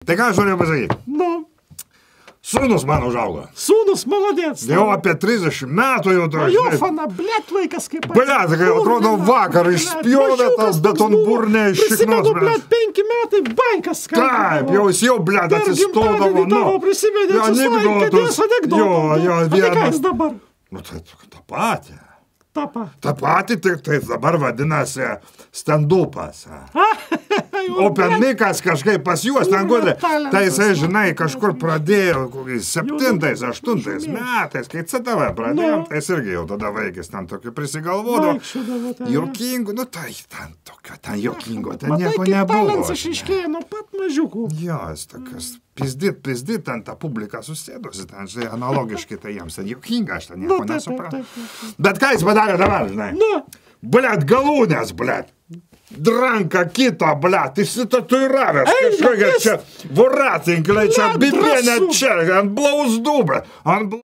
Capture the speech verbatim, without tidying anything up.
Tai ką aš norėjau pasakyti? Nu. Sūnus man užaugo. Sūnus, maladėts. Jau apie trisdešimt metų jau to. Jo, fana, blėt, laikas kaip... Blėt, kai atrodo vakar išspjovė tas betonburnė iš šiknos. Prisimenu, blėt, penki metai, bankas. Taip, jau jis jau, blėt, atsistodavo. Nu, prisimenu, atsislaikė, kėdės anekdotą. Jo, jo, vienas. Tai ką jis dabar? Nu, tai tą patį. Ta patį. Ta patį, tik tai dabar vadinasi stand-upas. Open mikas kažkaip pas juos ten gudė. Tai jisai, žinai, kažkur pradėjo septintais, aštuntais metais, kai C T V pradėjom, tai jis irgi jau tada vaikis ten tokį prisigalvodavo. Jokingų, nu tai ten tokio, ten jokingo, ten nieko nebuvo. Matai, kaip talents išiškėjo nuo pat mažiukų. Jo, jis tokias pizdit, pizdit, ten tą publiką susėdusi, ten, žinai, analogiškai tai jiems, ten jokinga, aš ten nieko nesuprantu. Bet ką jis padarė dabar, žinai? Blet, galūnės, blet. Dranka kito, blet, išsitatuiravęs kažkokia čia voratinklai, čia bibienė čia, ant blauzdų, blet.